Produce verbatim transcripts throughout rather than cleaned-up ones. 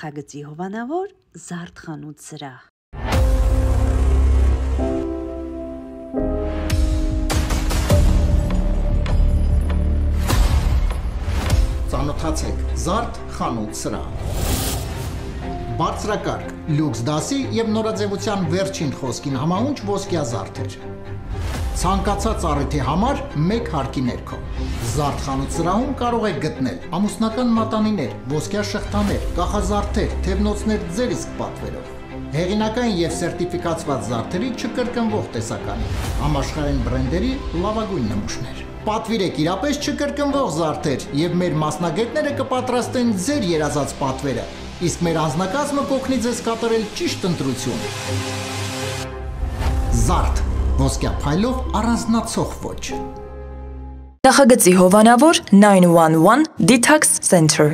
Նախագծի հովանավոր Զարդ խանութ սրահ։ Ծանոթացեք Զարդ խանութ սրահ։ Բարձրակարգ, լյուքս դասի և նորաձևության վերջին խոսքին համահունչ ոսկյա զարդեր։ Ցանկացած առիթի համար մեկ հարկի ներքո։ Զարդ խանութ սրահում կարող եք գտնել ամուսնական մատանիներ, ոսկյա շղթաներ, կախազարդեր, թևնոցներ ձեր իսկ պատվերով։ Հեղինական և սերտիֆիկացված զարդերի չկրկնվող տեսականի, համաշխարհային բրենդերի լավագույն նմուշներ։ Պատվիրեք իրապես չկրկնվող զարդեր և մեր մասնագետները կպատրաստեն ձեր երազած պատվերը, իսկ մեր անձնակազմը կօգնի ձեզ կատարել ճիշտ ընտրություն։ Զարդ, ոսկյա փայլով առանձնացող ոճ։ Նախագծի հովանավոր նայն վան վան Detox Center։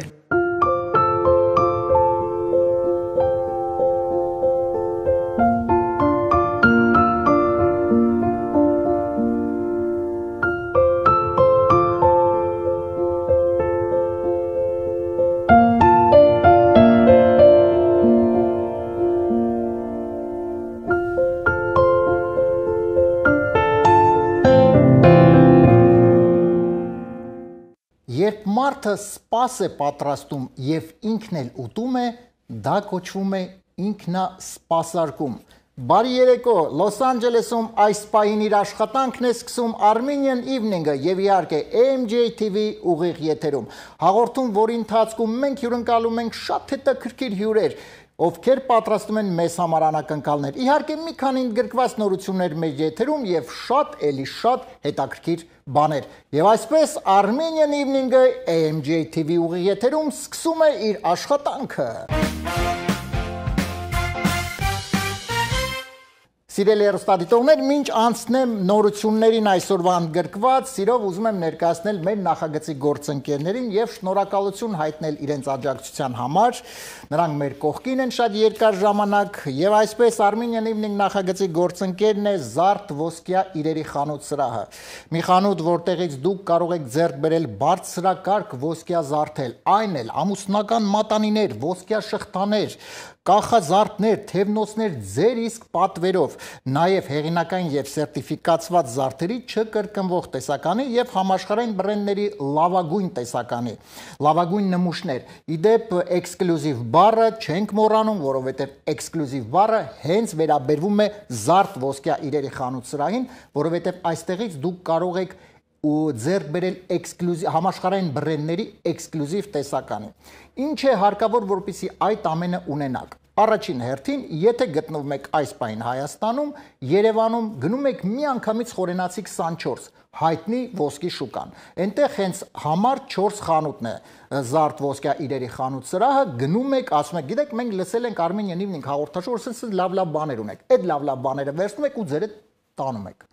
Երբ մարդը սպաս է պատրաստում և ինքն էլ ուտում է, դա կոչվում է ինքնասպասարկում։ Բարի երեկո, Լոս Անջելեսում այս պահին իր աշխատանքն է սկսում Armenian Evening-ը և իհարկե A M J T V ուղիղ եթերում։ Հաղորդում, որի ընթացքում մենք հյուրընկալում ենք շատ հետաքրքիր հյուրեր, ովքեր պատրաստում են մեզ համար անակնկալներ։ Իհարկե մի քանի ընդգրկված նորություններ մեր եթերում և շատ էլի շատ հետաքրքիր բաներ։ Եվ այսպես Armenian Evening-ը A M J T V ուղիղ եթերում սկսում է իր աշխատանքը։ Սիրելի հեռուստադիտողներ, մինչ անցնեմ նորություններին այսօրվա ընդգրկված, սիրով ուզում եմ ներկայացնել մեր նախագծի գործընկերներին և շնորհակալություն հայտնել իրենց աջակցության համար։ Նրանք մեր կողքին են շատ երկար ժամանակ և այսպես Armenian Evening նախագծի գործընկերն է Զարդ ոսկյա իրերի խանութ սրահը։ Մի խանութ, որտեղից դուք կարող եք ձեռք բերել բարձրակարգ ոսկյա զարդեր, այն էլ ամուսնական մատանիներ, ոսկյա շղթաներ, կախազարդներ, թևնոցներ ձեր իսկ պատվերով, նաև հեղինական և սերտիֆիկացված զարդերի չկրկնվող տեսականի և համաշխարհային բրենդների լավագույն տեսականի, լավագույն նմուշներ։ Իդեպ էքսկլյուզիվ բառը չենք մոռանում, որովհետև էքսկլյուզիվ բառը հենց վերաբերվում է Զարդ ոսկյա իրերի խանութ սրահին, որովհետև այստեղից դուք կարող եք ու ձեռք բերել էքսկլյուզիվ համաշխարհային բրենդների էքսկլյուզիվ տեսականի։ Ինչ է հարկավոր, որպեսզի այդ ամենը ունենաք։ Առաջին հերթին, եթե գտնվում եք այս պահին Հայաստանում, Երևանում, գնում եք միանգամից խորենացի քսանչորս, հայտնի ոսկի շուկան։ Այնտեղ հենց համար չորս խանութն է, Զարդ ոսկյա իրերի խանութ սրահը, գնում եք, ասում եք, գիտեք, մենք լսել ենք Armenian Evening հաղորդաշար, ասես լավ-լավ բաներ ունեք։ Այդ լավ-լավ բաները վերցնում եք ու ձերը տանում եք։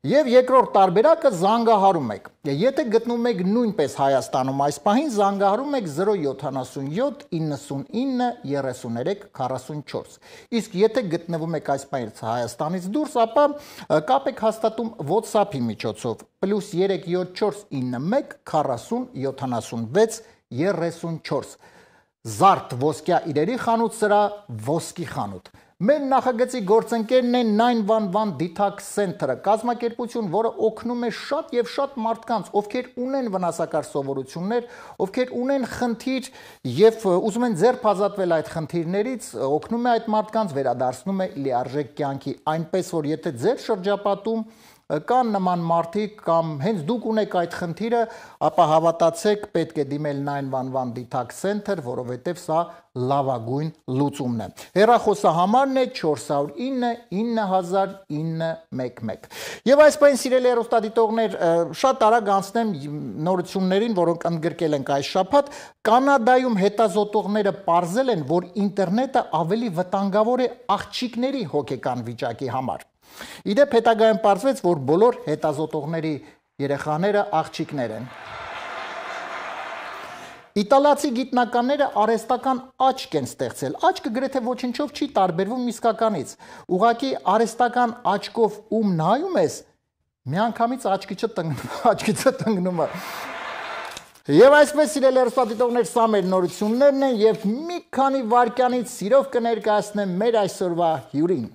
Եվ երկրորդ տարբերակը զանգահարում եք։ Եթե գտնվում եք նույնպես Հայաստանում այս պահին, զանգահարում եք զրո յոթանասունյոթ իննսունինը երեսուններեք քառասունչորս։ Իսկ եթե գտնվում եք այս պահին Հայաստանից դուրս, ապա կապ եք հաստատում WhatsApp-ի միջոցով պլյուս երեք յոթ չորս ինը մեկ քառասուն յոթանասունվեց երեսունչորս։ Զարդ ոսկյա իրերի խանութ սրահ, ոսկի խանութ։ Մեր նախագծի գործընկերն է նայն վան վան Detox Center-ը, կազմակերպություն, որը օգնում է շատ և շատ մարդկանց, ովքեր ունեն վնասակար սովորություններ, ովքեր ունեն խնդիր և ուզում են ձեռք ազատվել այդ խնդիրներից, օգնում է այդ մարդկանց, վերադարձնում է լիարժեք կյանքի, այնպես որ եթե ձեր շրջապատում կան նման մարդիկ կամ հենց դուք ունեք այդ խնդիրը, ապա հավատացեք, պետք է դիմել նայն վան վան Detox Center, որովհետև սա լավագույն լուծումն է։ Հեռախոսահամարն է չորս հարյուր ինը ինը հազար ինը մեկ մեկ։ Եվ այս պահին, սիրելի հեռուստադիտողներ, շատ արագ անցնեմ նորություններին, որոնք ընդգրկել ենք այս շաբաթ։ Կանադայում հետազոտողները պարզել են, որ ինտերնետը ավելի վտանգավոր է աղջիկների հոգեկան վիճակի համար։ Իդեպ հետագայում պարզվեց, որ բոլոր հետազոտողների երեխաները աղջիկներ են։ Իտալացի գիտնականները արհեստական աչք են ստեղծել։ Աչքը գրեթե ոչնչով չի տարբերվում իսկականից։ Ուղղակի արհեստական աչքով ում նայում ես, միանգամից աչքիցը տնկնում է։ Եվ այսպես սիրելի հեռուստադիտողներ, սա մեր նորություններն են եւ մի քանի վայրկյանից սիրով կներկայացնեմ մեր այսօրվա հյուրին։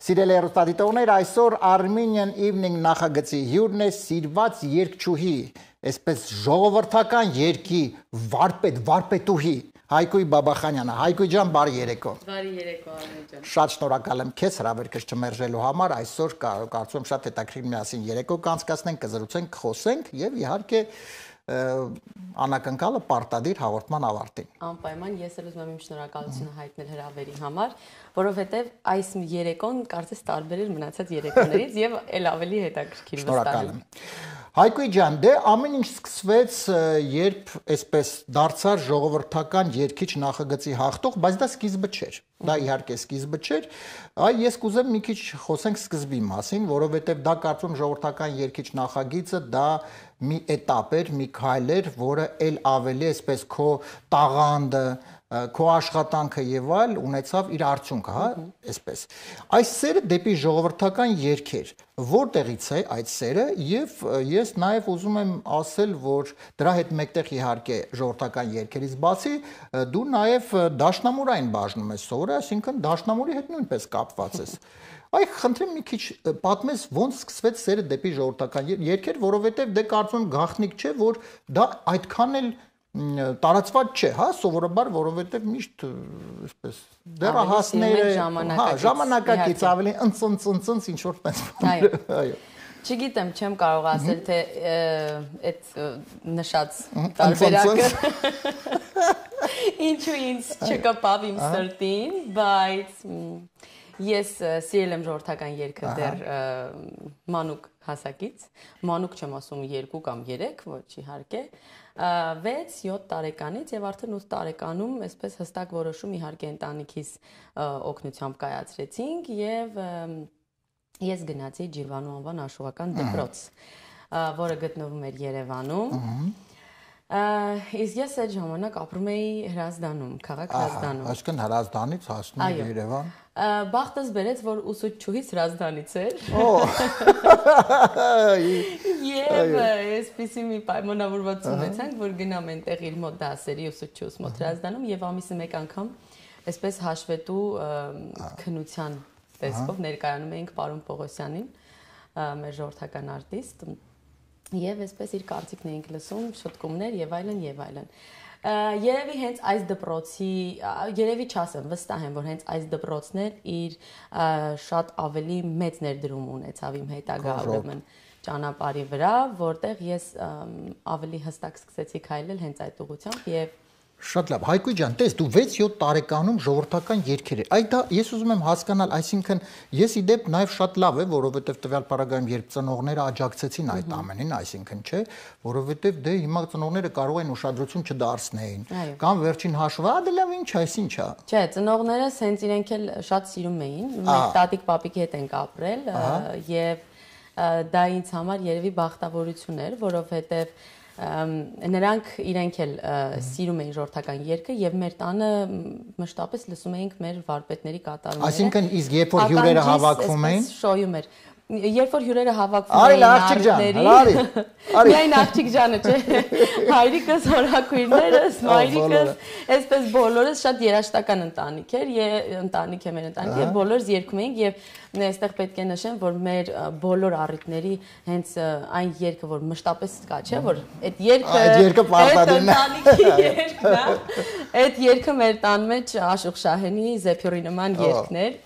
Սիրելի հեռուստադիտողներ, այսօր Armenian Evening նախագծի հյուրն է սիրված երգչուհի, այսպես ժողովրդական երգի վարպետ, վարպետուհի Հայկույ Բաբախանյանը։ Հայկույ ջան, բարի երեկո։ Բարի երեկո, Արմեն ջան։ Շատ շնորհակալ եմ քեզ հրավերքս չմերժելու համար։ Այսօր կարծում եմ շատ հետաքրքիր միասին երեկո կանցկացնենք, կզրուցենք, կխոսենք եւ իհարկե անակնկալը պարտադիր հաղորդման ավարտին։ Անպայման ես էլ ուզում եմ իմ շնորհակալությունը հայտնել հրավերի համար, որովհետեւ այս երեկոն կարծես տարբեր էր մնացած երեկոներից եւ ել ավելի հետաքրքիր վստահ եմ։ Հայկույ ջան, դե ամեն ինչ սկսվեց, երբ այսպես դարձար ժողովրդական երգիչ նախագծի հաղթող, բայց դա սկիզբը չէր։ Դա իհարկե սկիզբը չէր։ Այ ես կուզեմ մի քիչ խոսենք սկզբի մասին, որովհետև դա կարծում ժողովրդական երգիչ նախագիծը դա մի էտապ էր, մի քայլ էր, որը ել ավելի այսպես քո տաղանդը քո աշխատանքը եւ այլ ունեցավ իր արդյունքը, հա, այսպես։ Այս սերը դեպի ժողովրդական երգեր, որտեղից է այդ սերը եւ ես նաեւ ուզում եմ ասել, որ դրա հետ մեկտեղ իհարկե ժողովրդական երգերից բացի դու նաեւ դաշնամուրային բաժնում ես սովորել, այսինքն դաշնամուրի հետ նույնպես կապված ես։ Այ խնդրեմ մի քիչ պատմես ոնց սկսվեց սերը դեպի ժողովրդական երգեր, որովհետեւ դե կարծում գաղտնիք չէ, որ դա այդքան էլ տարածված չէ, հա, սովորաբար, որովհետև միշտ այսպես դեռահասները, հա, ժամանակակից ավելի ընծընծընծընց ինչ որ տես։ Այո։ Չգիտեմ, չեմ կարող ասել, թե այդ նշած տարբերակը ինչու ինձ չկպավ իմ սրտին, բայց ես սիրել եմ ժողովրդական երգը դեռ մանուկ հասակից, մանուկ չեմ ասում երկու կամ երեք, ոչ իհարկե, վեց յոթ տարեկանից եւ արդեն ութ տարեկանում այսպես հստակ որոշում իհարկե ընտանիքիս օգնությամբ կայացրեցինք եւ ես գնացի Ջիրվանու անվան աշխուհական դպրոց, որը գտնվում էր Երևանում։ Իսկ ես այդ ժամանակ ապրում էի Հրազդանում, քաղաք Հրազդանում։ Այսինքն Հրազդանից հասնում եք Երևան։ Բախտս բերեց, որ ուսուցչուհիս Հրազդանից էր։ Եվ այսպիսի մի պայմանավորված ունեցանք, որ գնամ այնտեղ իր մոտ դասերի ուսուցչուհուս մոտ Հրազդանում եւ ամիսը մեկ անգամ այսպես հաշվետու քննության տեսքով ներկայանում էինք պարոն Պողոսյանին, մեր ժողովրդական արտիստ, եւ այսպես իր կարծիքն էինք լսում, շտկումներ եւ այլն եւ այլն։ Երևի հենց այս դպրոցի, երևի չասեմ, վստահ եմ, որ հենց այս դպրոցն էր իր շատ ավելի մեծ ներդրում ունեցավ իմ հետագա ուրեմն ճանապարհի վրա, որտեղ ես ավելի հստակ սկսեցի քայլել հենց այդ ուղղությամբ եւ Շատ լավ, Հայկույ ջան, տես դու վեց յոթ տարեկանում ժողովրդական երգեր էր։ Այդ դա ես ուզում եմ հասկանալ, այսինքն ես իդեպ նաև շատ լավ է, որովհետև տվյալ պարագայում երբ ծնողները աջակցեցին այդ ամենին, այսինքն չէ, որովհետև դե հիմա ծնողները կարող են ուշադրություն չդարձնեին, կամ վերջին հաշվը, ա դե լավ ինչ, այս ինչ է։ Չէ, ծնողները սենց իրենք էլ շատ սիրում էին, մենք տատիկ պապիկի հետ ենք ապրել եւ դա ինձ համար երևի բախտավորություն էր, որովհետև նրանք իրենք էլ սիրում էին ժողովրդական երգը եւ մեր տանը մշտապես լսում էինք մեր վարպետների կատարումները։ Այսինքն իսկ երբ որ հյուրերը հավաքվում էին, շոյում էր։ Երբ որ հյուրերը հավաքվում էին արտերի, միայն աղջիկ ջանը, չէ, հայրիկս, հորաքույրներս, մայրիկս, այսպես բոլորս շատ երաժշտական ընտանիք էր, ընտանիք է մեր ընտանիք եւ բոլորս երգում էինք եւ այստեղ պետք է նշեմ, որ մեր բոլոր առիթների հենց այն երգը, որ մշտապես կա, չէ, որ այդ երգը այդ երգը պարտադիրն է, ընտանիքի երգն է, այդ երգը մեր տան մեջ Աշուղ Շահենի Զեփյուրի նման երգն էր,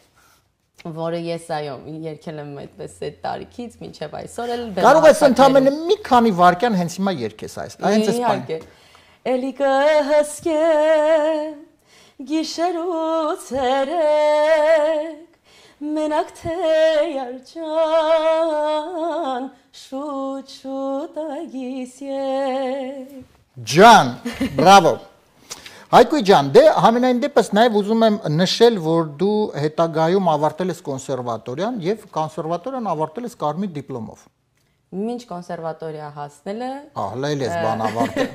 որը ես այո երգել եմ այդպես այդ տարիքից մինչև այսօր էլ կարող ես ընդամենը մի քանի վայրկյան հենց հիմա երգես այս այնց էս բան էլի կհսկե գիշերու ցերեկ մենակ թե յարջան շուտ շուտ ագիս եկ ջան բրավո Հայկույ ջան, դե համենայն դեպս նաև ուզում եմ նշել, որ դու հետագայում ավարտել ես կոնսերվատորիան եւ կոնսերվատորիան ավարտել ես կարմիր դիպլոմով։ Մինչ կոնսերվատորիա հասնելը ահլել ես բան ավարտել։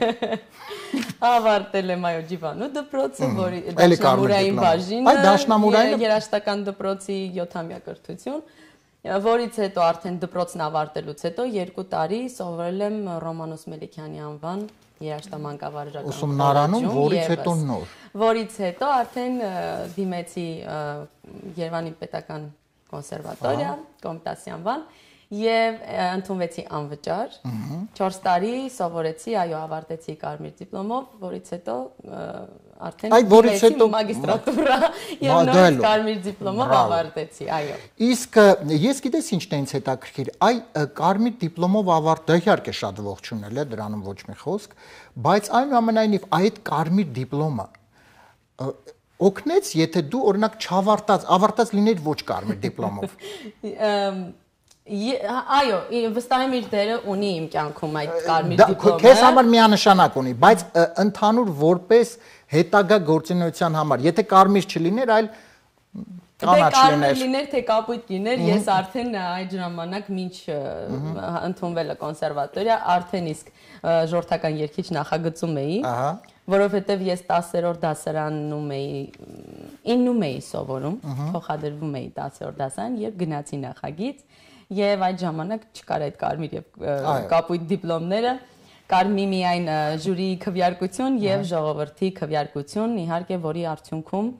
Ավարտել եմ այո Ջիվանու դպրոցը, որի դաշնամուրային բաժինը, երաժշտական դպրոցի յոթամյա կրթություն որից հետո արդեն դպրոցն ավարտելուց հետո երկու տարի սովորել եմ Ռոմանոս Մելիքյանի անվան երաժշտամանկավարժական ուսումնարանում, որից հետո նոր։ Որից հետո արդեն դիմեցի Երևանի պետական կոնսերվատորիա, Կոմիտասի անվան եւ ընդունվեցի անվճար։ չորս տարի սովորեցի, այո, ավարտեցի կարմիր դիպլոմով, որից հետո արդեն դիմեցի մագիստրատուրա եւ նոր կարմիր դիպլոմով ավարտեցի, այո։ Իսկ ես գիտես ինչն է ինձ հետաքրքիր, այ կարմիր դիպլոմով ավարտը իհարկե շատ ողջունել է, դրանում ոչ մի խոսք, բայց այնուամենայնիվ այդ կարմիր դիպլոմը օգնեց, եթե դու օրինակ չավարտած, ավարտած լինեիր ոչ կարմիր դիպլոմով։ Այո, վստահ եմ իր դերը ունի իմ կյանքում այդ կարմիր դիպլոմը։ Քեզ համար միանշանակ ունի, բայց ընդհանուր որպես հետագա գործունեության համար, եթե կարմիր չլիներ, այլ կանաչ լիներ։ Կարմիր լիներ, թե կապույտ լիներ, ես արդեն այդ ժամանակ մինչ ընդունվելը կոնսերվատորիա, արդեն իսկ ժողովրդական երգիչ նախագծում էի, որովհետև ես տասերորդ դասարանում էի, իննում էի սովորում, փոխադրվում էի տասերորդ դասարան եւ գնացի նախագիծ եւ այդ ժամանակ չկար այդ կարմիր եւ կապույտ դիպլոմները, կար միայն ժյուրիի քվեարկություն եւ ժողովրդի քվեարկություն, իհարկե, որի արդյունքում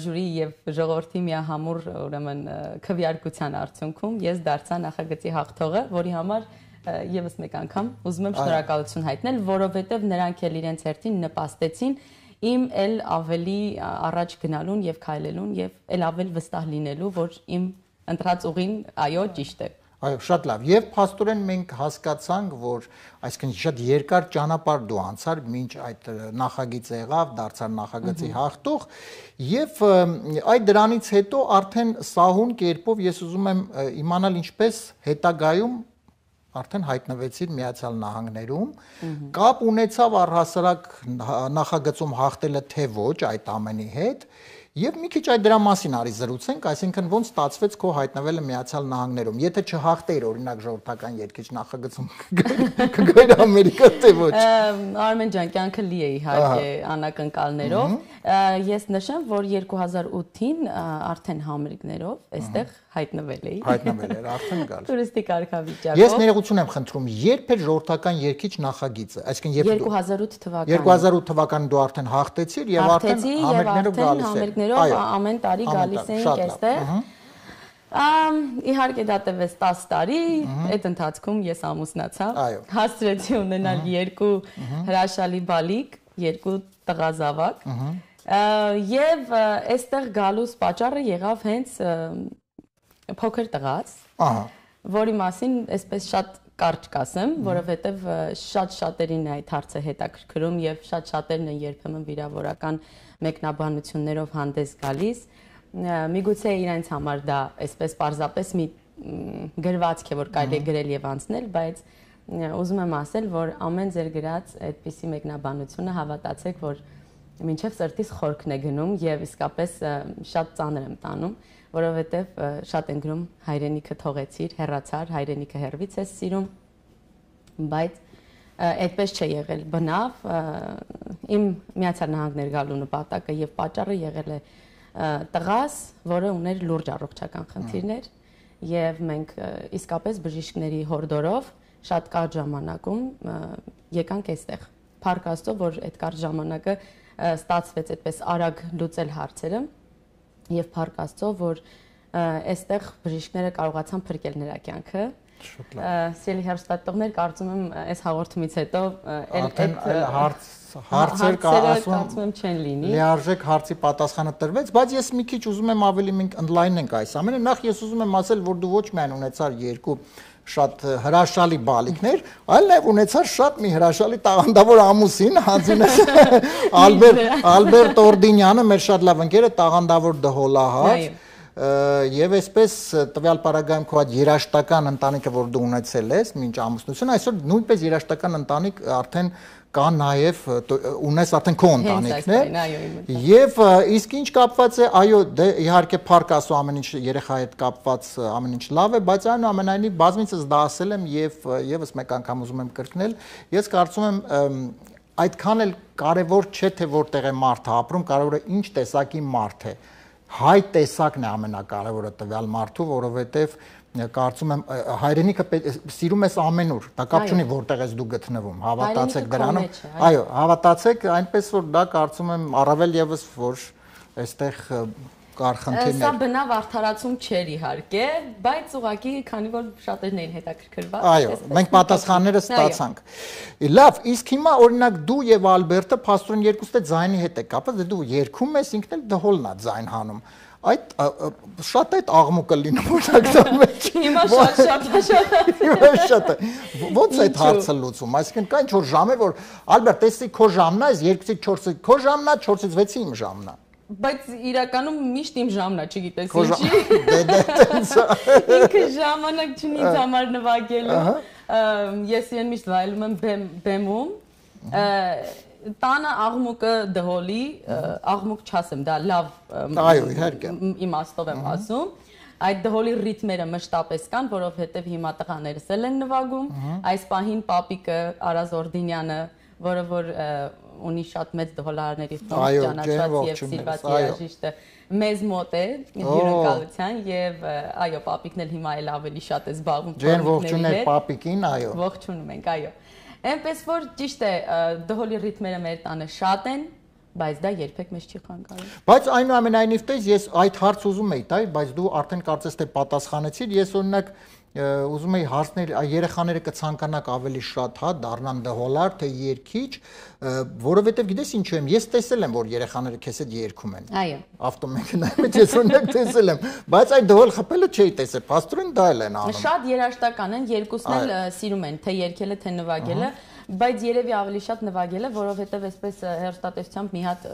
ժյուրի եւ ժողովրդի միահամուռ ուրեմն քվեարկության արդյունքում ես դարձա նախագծի հաղթողը, որի համար եւս մեկ անգամ ուզում եմ շնորհակալություն հայտնել, որովհետեւ նրանք էլ իրենց հերթին նպաստեցին իմ էլ ավելի առաջ գնալուն եւ քայլելուն եւ էլ ավելի վստահ լինելու, որ իմ ընտրած ուղին այո ճիշտ է։ Այո, շատ լավ։ Եվ փաստորեն մենք հասկացանք, որ այսինքն շատ երկար ճանապարհ դու անցար, մինչ այդ նախագիծը եղավ, դարձար նախագծի հաղթող, եւ այդ դրանից հետո արդեն սահուն կերպով ես ուզում եմ իմանալ ինչպես հետագայում արդեն հայտնվեցիր Միացյալ Նահանգներում, կապ ունեցավ առհասարակ նախագծում հաղթելը թե ոչ այդ ամենի հետ, եւ մի քիչ այդ դրա մասին արի զրուցենք, այսինքն ոնց ստացվեց քո հայտնվելը Միացյալ Նահանգներում, եթե չհաղթեիր օրինակ ժողովրդական երգիչ նախագծում կգայր Ամերիկա թե ոչ։ Արմեն ջան, կյանքը լի է իհարկե անակնկալներով, ես նշեմ, որ երկու հազար ութին արդեն համերգներով այստեղ հայտնվել էի։ Հայտնվել էր, արդեն գալ։ Տուրիստիկ կարգավիճակով։ Ես ներողություն եմ խնդրում, երբ էր ժողովրդական երգիչ նախագիծը, այսինքն երբ երկու հազար ութ թվականին։ երկու հազար ութ թվականին դու արդեն հաղթեցիր եւ արդեն համերգներով գալիս էր։ Համերգներով ամեն տարի գալիս էինք այստեղ։ Իհարկե դա տևեց տասը տարի, այդ ընթացքում ես ամուսնացա, հասցրեցի ունենալ երկու հրաշալի բալիկ, երկու տղազավակ, եւ այստեղ գալուս պատճառը եղավ հենց փոքր տղաց, որի մասին այսպես շատ կարճ կասեմ, որովհետև շատ շատերին այդ հարցը հետաքրքրում եւ շատ շատերն են երբեմն վիրավորական մեկնաբանություններով հանդես գալիս։ Միգուցե իրենց համար դա այսպես պարզապես մի գրվածք է, որ կարելի է գրել եւ անցնել, բայց ուզում եմ ասել, որ ամեն ձեր գրած այդպիսի մեկնաբանությունը հավատացեք, որ մինչև սրտիս խորքն է գնում եւ իսկապես շատ ծանր եմ տանում, որովհետև շատ են գրում հայրենիքը թողեցիր, հեռացար, հայրենիքը հեռվից ես սիրում, բայց այդպես չէ եղել, բնավ իմ Միացյալ Նահանգներ գալու նպատակը եւ պատճառը եղել է տղաս, որը ուներ լուրջ առողջական խնդիրներ եւ մենք իսկապես բժիշկների հորդորով շատ կարճ ժամանակում եկանք այստեղ։ Փառք Աստծո, որ այդ կարճ ժամանակը ստացվեց այդպես արագ լուծել հարցերը եւ փառք Աստծո, որ այստեղ բժիշկները կարողացան փրկել նրա կյանքը։ Սիրելի հեռուստատիտողներ, կարծում եմ այս հաղորդումից հետո այդ հարց հարցեր կարծում եմ չեն լինի։ Լիարժեք հարցի պատասխանը տրվեց, բայց ես մի քիչ ուզում եմ ավելի մենք ընդլայնենք այս ամենը։ Նախ ես ուզում եմ ասել, որ դու ոչ միայն ունեցար երկու շատ հրաշալի բալիկներ, այլ նաև ունեցար շատ մի հրաշալի տաղանդավոր ամուսին, հանձինս Ալբերտ Ալբերտ Օրդինյանը, մեր շատ լավ ընկերը, տաղանդավոր դհոլահար, եւ այսպես տվյալ պարագայում քո այդ երաշտական ընտանիքը, որ դու ունեցել ես մինչ ամուսնությունը, այսօր նույնպես երաշտական ընտանիք արդեն կա նաև ունես արդեն քո ընտանիքն է եւ իսկ ինչ կապված է այո դե իհարկե փառք Աստծո ամեն ինչ երեխայի հետ կապված ամեն ինչ լավ է բայց այնուամենայնիվ բազմիցս դա ասել եմ եւ եւս մեկ անգամ ուզում եմ կրկնել ես կարծում եմ այդքան էլ կարեւոր չէ թե որտեղ է մարդը ապրում կարեւորը ինչ տեսակի մարդ է հայ տեսակն է ամենակարևորը տվյալ մարդու, որովհետև կարծում եմ հայրենիքը սիրում ես ամենուր, դա կապ չունի որտեղ ես դու գտնվում, հավատացեք դրանում, այո, հավատացեք, այնպես որ դա կարծում եմ առավել եւս որ այստեղ կար խնդիրներ։ Սա բնավ արդարացում չէր իհարկե, բայց ուղղակի քանի որ շատերն էին հետաքրքրված։ Այո, մենք պատասխանները ստացանք։ Լավ, իսկ հիմա օրինակ դու եւ Ալբերտը փաստորեն երկուսը ձայնի հետ է կապված, դե դու երգում ես, ինքն էլ դհոլն է ձայն հանում։ Այդ շատ այդ աղմուկը լինում օրինակ դա մեջ։ Հիմա շատ շատ շատ։ Հիմա շատ է։ Ոնց է այդ հարցը լուծում, այսինքն կա ինչ-որ ժամեր, որ Ալբերտ, տեսի քո ժամն է, երկուսից չորսից քո ժամն է, չորսից վեցի իմ ժամն է։ Բայց իրականում միշտ իմ ժամն է, չգիտես ինչի։ Դե դե տենց է։ Ինքը ժամանակ չունի ինձ համար նվագելու։ Ես իրեն միշտ վայելում եմ բեմում։ Տանը աղմուկը դհոլի, աղմուկ չասեմ, դա լավ իմաստով եմ ասում։ Այդ դհոլի ռիթմերը մշտապես կան, որովհետև հիմա տղաներս էլ են նվագում։ Այս պահին պապիկը Արազ Օրդինյանը, որը որ ունի շատ մեծ դհոլարների խումբ, ճանաչված եւ սիրված երաժիշտը, մեզ մոտ է հյուրընկալության եւ այո, պապիկն էլ հիմա էլ ավելի շատ է զբաղվում պապիկների հետ։ Պապիկին, այո։ Ողջունում ենք, այո։ Այնպես որ ճիշտ է, դհոլի ռիթմերը մեր տանը շատ են, բայց դա երբեք մեզ չի խանգարում։ Բայց այնուամենայնիվ տես ես այդ հարց ուզում էի տալ, բայց դու արդեն կարծես թե պատասխանեցիր, ես օրինակ ուզում էի հարցներ, երեխաները կցանկանաք ավելի շատ, հա, դառնան դհոլար, թե երգիչ, որովհետև գիտես ինչու եմ, ես տեսել եմ, որ երեխաները քեզ հետ երգում են։ Այո։ Ավտոմեքենայից ես օրինակ տեսել եմ, բայց այդ դհոլ խփելը չէի տեսել, փաստորեն դա էլ են անում։ Շատ երաժշտական են, երկուսն էլ սիրում են, թե երգելը, թե նվագելը, բայց երևի ավելի շատ նվագելը, որովհետև այսպես հեռուստատեսությամբ մի հատ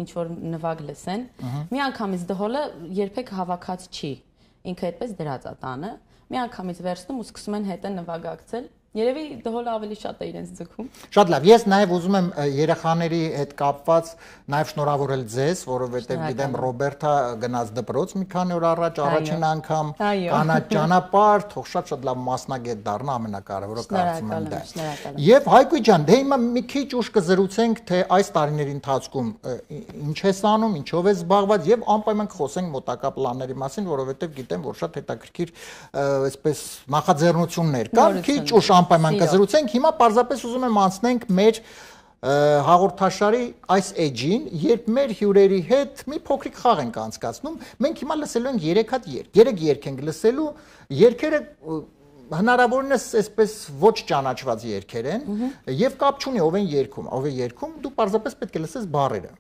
ինչ որ նվագ լսեն, մի անգամից դհոլը երբեք հավաքած չի, ինքը այդպես դրած է տանը։ Մի անգամից վերցնում ու սկսում են հետը նվագակցել։ Երևի դհոլը ավելի շատ է իրենց ձգում։ Շատ լավ, ես նաև ուզում եմ երեխաների հետ կապված նաև շնորհավորել ձեզ, որովհետև գիտեմ Ռոբերտա գնաց դպրոց մի քանի օր առաջ, առաջին անգամ կանա ճանապարհ, թող շատ-շատ լավ մասնագետ դառնա, ամենակարևորը կարծում եմ դա է։ Եվ Հայկույ ջան, դե հիմա մի քիչ ուշ կզրուցենք, թե այս տարիների ընթացքում ինչ ես անում, ինչով ես զբաղված եւ անպայման կխոսենք մոտակա պլանների մասին, որովհետև գիտեմ, որ շատ հետաքրքիր այսպես նախաձեռնություններ կան, քիչ ուշ անպայման կզրուցենք, հիմա պարզապես ուզում եմ անցնենք մեր հաղորդաշարի այս էջին, երբ մեր հյուրերի հետ մի փոքրիկ խաղ ենք անցկացնում, մենք հիմա լսելու ենք երեք հատ երգ, երեք երգ ենք լսելու, երգերը հնարավորինս այսպես ոչ ճանաչված երգեր են եւ կապ չունի ով են երգում, ով է երգում, դու պարզապես պետք է լսես բառերը։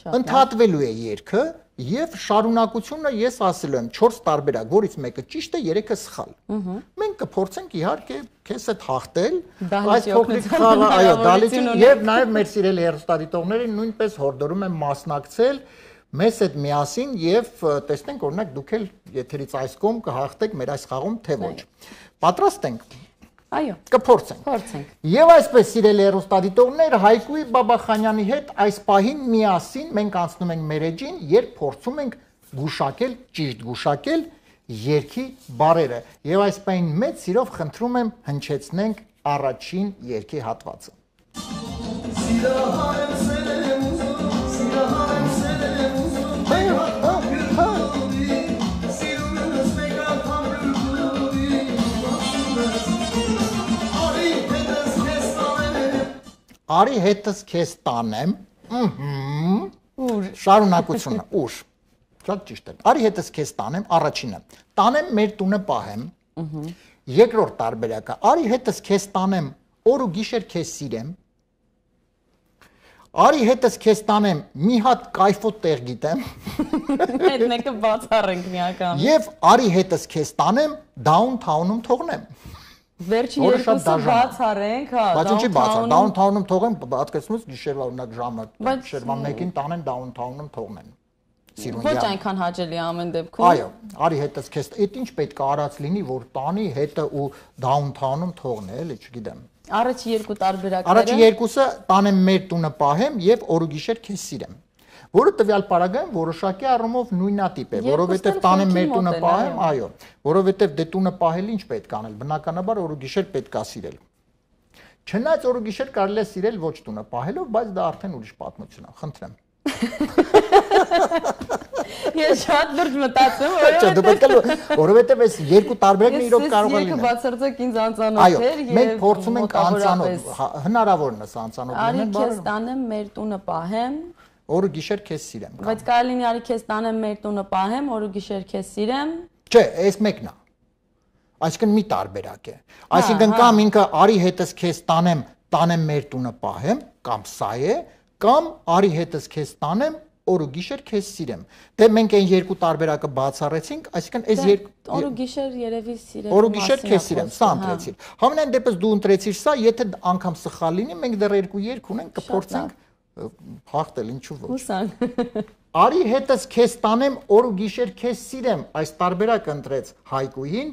Ընդհատվելու է երգը եւ շարունակությունը ես ասելու եմ չորս տարբերակ, որից մեկը ճիշտ է, երեքը սխալ։ Մենք կփորձենք իհարկե քեզ հետ հաղթել այս փոքրիկ խաղը, այո, դալիճին եւ նաեւ մեր սիրելի հեռուստադիտողներին նույնպես հորդորում եմ մասնակցել մեզ հետ միասին եւ տեսնենք օրինակ դուք էլ եթերից այս կողմ կհաղթեք մեր այս խաղում թե ոչ։ Պատրաստ ենք։ Այո, կփորձենք։ Փորձենք։ Եվ այսպես սիրելի հեռուստադիտողներ, Հայկույ Բաբախանյանի հետ այս պահին միասին մենք անցնում ենք մեր էջին, երբ փորձում ենք գուշակել, ճիշտ գուշակել երգի բառերը։ Եվ այս պահին մեծ սիրով խնդրում եմ հնչեցնենք առաջին երգի հատվածը։ Արի հետս քեզ տանեմ, շարունակությունը, ուշ, շատ ճիշտ է, արի հետս քեզ տանեմ, առաջինը, տանեմ մեր տունը պահեմ, երկրորդ տարբերակը, արի հետս քեզ տանեմ, օր ու գիշեր քեզ սիրեմ, արի հետս քեզ տանեմ, մի հատ կայֆոտ տեղ գիտեմ, այդ մեկը բացառենք միական, և արի հետս քեզ տանեմ, դաունթաունում թողնեմ։ Վերջի երկուսը բացառենք, հա, բայց ինչի բացառ, դաունթաունում թողեն, պատկերացնուց գիշերվա օրինակ ժամը, գիշերվա մեկին տանեն դաունթաունում թողնեն։ Ոչ այնքան հաճելի ամեն դեպքում։ Այո, արի հետս քեզ, այդ ինչ պետք է արած լինի, որ տանի հետը ու դաունթաունում թողնի, էլի, չգիտեմ։ Առաջի երկու տարբերակները։ Առաջի երկուսը տանեմ մեր տունը պահեմ եւ օր ու գիշեր քեզ սիրեմ։ Որը տվյալ պարագայում որոշակի առումով նույնատիպ է, որովհետև տանեմ մեր տունը պահեմ, այո, որովհետև դե տունը պահել ինչ պետք անել, բնականաբար օր ու գիշեր պետք է սիրել։ Չնայած օր ու գիշեր կարելի է սիրել ոչ տունը պահելով, բայց դա արդեն ուրիշ պատմություն է, խնդրեմ։ Ես շատ լուրջ մտածում, Չէ, դու պետք է որովհետև այս երկու տարբերակն իրոք կարող է լինել։ Ես բացարձակ ինձ անծանոթ Այո, էր եւ մենք փորձում ենք անծանոթ, հնարավորն է անծանոթ Արի լինել քեզ տանեմ մեր տունը պահեմ։ Օրը գիշեր քեզ սիրեմ։ Բայց կարելի լինի արի քեզ տանեմ մեր տունը պահեմ, օրը գիշեր քեզ սիրեմ։ Չէ, այս մեկն է։ Այսինքն մի տարբերակ է։ Այսինքն կամ ինքը արի հետս քեզ տանեմ, տանեմ մեր տունը պահեմ, կամ սա է, կամ արի հետս քեզ տանեմ, օրը գիշեր քեզ սիրեմ։ Դե մենք այն երկու տարբերակը բացառեցինք, այսինքն այս երկու օրը գիշեր երևի սիրեմ։ Օրը գիշեր քեզ սիրեմ, սա ընտրեցիր։ Համենայն դեպս դու ընտրեցիր սա, եթե անգամ սխալ լինի, մենք դեռ երկու երկ ունենք, կփորձենք հաղթել, ինչու ոչ։ Հուսան։ Արի հետս քեզ տանեմ, օր ու գիշեր քեզ սիրեմ, այս տարբերակը ընտրեց Հայկուին,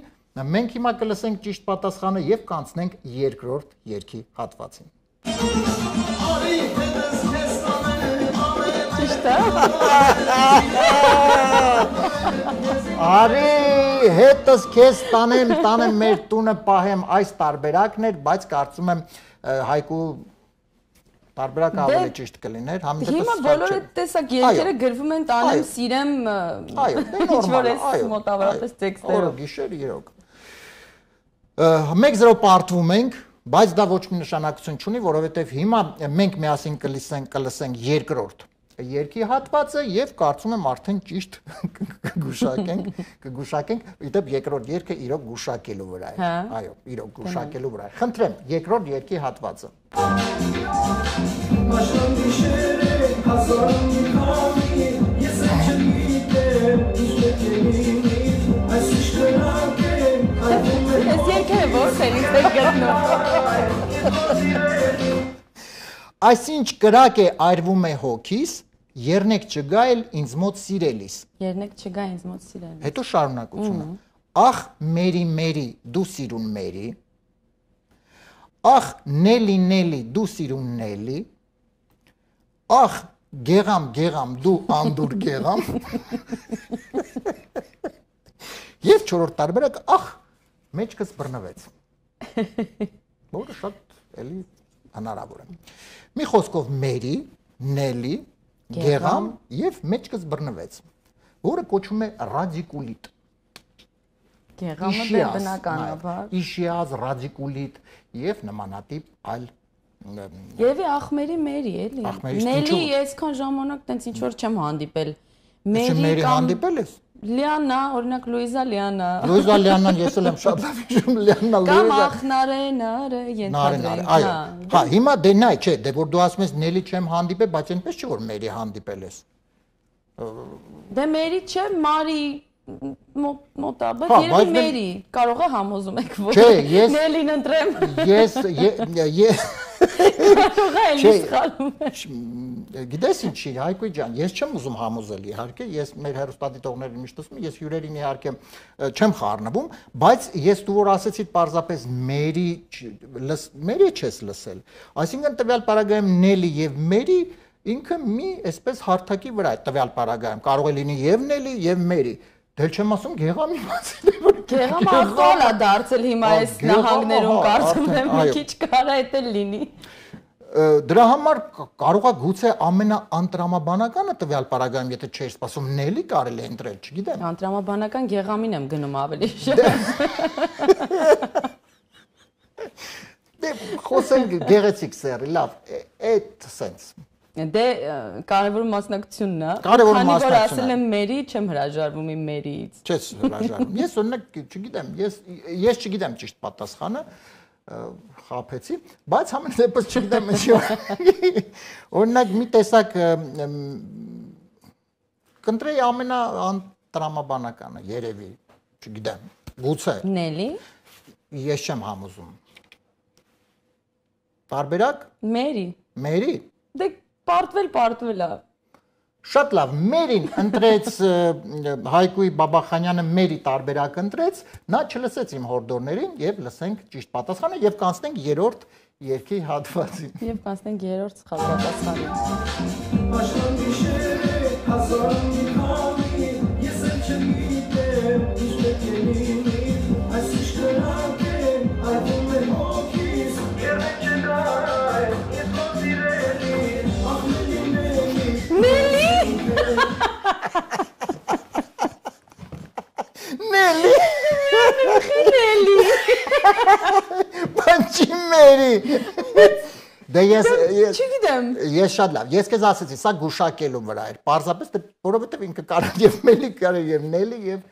մենք հիմա կլսենք ճիշտ պատասխանը եւ կանցնենք երկրորդ երգի հատվածին։ Արի հետս քեզ տանեմ, ճիշտ է։ Արի հետս քեզ տանեմ, տանեմ մեր տունը պահեմ, այս տարբերակն էր, բայց կարծում եմ Հայկու տարբերակը ավելի ճիշտ կլիներ, համենայնպես հիմա բոլորը տեսակ երկերը գրվում են տանեմ, սիրեմ, այո, ինչ-որ էս մոտավորապես տեքստերով։ Օրը գիշեր իրոք։ Մեկ զրո պարտվում ենք, բայց դա ոչ մի նշանակություն չունի, որովհետև հիմա մենք միասին կլսենք երկրորդ երկի հատվածը եւ կարծում եմ արդեն ճիշտ կգուշակենք, կգուշակենք, իդեպ երկրորդ երկը իրոք գուշակելու վրա է։ Այո, իրոք գուշակելու վրա է։ Խնդրեմ, երկրորդ երկի հատվածը։ Ես երկը որտեղ ինձ եք գտնում։ Այսինչ կրակ է այրվում է հոգիս, երնեք չգա էլ ինձ մոտ սիրելիս։ Երնեք չգա ինձ մոտ սիրելիս։ Հետո շարունակությունը։ Ախ մերի մերի դու սիրուն մերի, ախ նելի նելի դու սիրուն նելի, ախ գեղամ գեղամ դու անդուր գեղամ։ Եվ չորրորդ տարբերակ ախ մեջքս բռնվեց։ Որը շատ էլի հնարավոր է։ Մի խոսքով մերի, նելի, գեղամ եւ մեջքս բռնվեց, որը կոչվում է ռադիկուլիտ։ Գեղամը դե բնականաբար։ Իշիազ, ռադիկուլիտ եւ նմանատիպ այլ Երևի ախմերի մերի էլի։ Նելի այսքան ժամանակ տենց ինչ որ չեմ հանդիպել։ Մերի հանդիպել ես։ Լիանա, օրինակ Լուիզա Լիանա։ Լուիզա Լիանան ես էլ եմ շատ լավ հիշում, Լիանա Լուիզա։ Կամ ախնարե նարը ենթադրենք։ Այո։ Հա, հիմա դե նայ, չէ, դե որ դու ասում ես Նելի չեմ հանդիպել, բայց այնպես չէ որ Մերի հանդիպել ես։ Դե Մերի չէ, Մարի մոտաբար, երևի Մերի, կարող է համոզում եք որ Նելին ընտրեմ։ Ես կարող է էլի սխալում եմ։ Գիտես ինչի, Հայկույ ջան, ես չեմ ուզում համոզել իհարկե, ես մեր հեռուստադիտողներին միշտ ասում եմ, ես հյուրերին իհարկե չեմ խառնվում, բայց ես դու որ ասեցիդ պարզապես Մերի, Մերի չես լսել։ Այսինքն տվյալ պարագայում Նելի եւ Մերի ինքը մի այսպես հարթակի վրա է տվյալ պարագայում, կարող է լինի եւ Նելի եւ Մերի։ Դել չեմ ասում գեղամի մասին է որ գեղամը ախտոլ է դարձել հիմա այս նահանգներում կարծում եմ մի քիչ կարա էդ էլ լինի։ Դրա համար կարող է գուցե ամենաանտրամաբանականը տվյալ պարագայում եթե չէր սպասում Նելի կարելի է ընտրել, չգիտեմ։ Անտրամաբանական գեղամին եմ գնում ավելի շատ։ Դե խոսենք գեղեցիկ սերի, լավ, այդ sense Դե կարևոր մասնակցությունն է։ Կարևոր մասնակցությունն է։ Քանի որ ասել եմ Մերի, չեմ հրաժարվում իմ Մերիից։ Չես հրաժարվում։ Ես օրինակ չգիտեմ, ես ես չգիտեմ ճիշտ պատասխանը, խափեցի, բայց համենայնպես չգիտեմ ինչի։ Օրինակ մի տեսակ կընտրեի ամենաանտրամաբանականը, երևի, չգիտեմ, գուցե։ Նելի։ Ես չեմ համոզում։ Տարբերակ։ Մերի։ Մերի։ Դե պարտվել, պարտվել է։ Շատ լավ, Մերին ընտրեց Հայկույ Բաբախանյանը Մերի տարբերակ ընտրեց, նա չլսեց իմ հորդորներին եւ լսենք ճիշտ պատասխանը եւ կանցնենք երրորդ երկի հատվածին։ Եվ կանցնենք երրորդ սխալ պատասխանին։ Գուշակելուների։ Դե ես Չգիտեմ։ Ես շատ լավ։ Ես քեզ ասեցի, սա գուշակելու վրա էր։ Պարզապես դե որովհետև ինքը կարար եւ Մելի կարար եւ Նելի եւ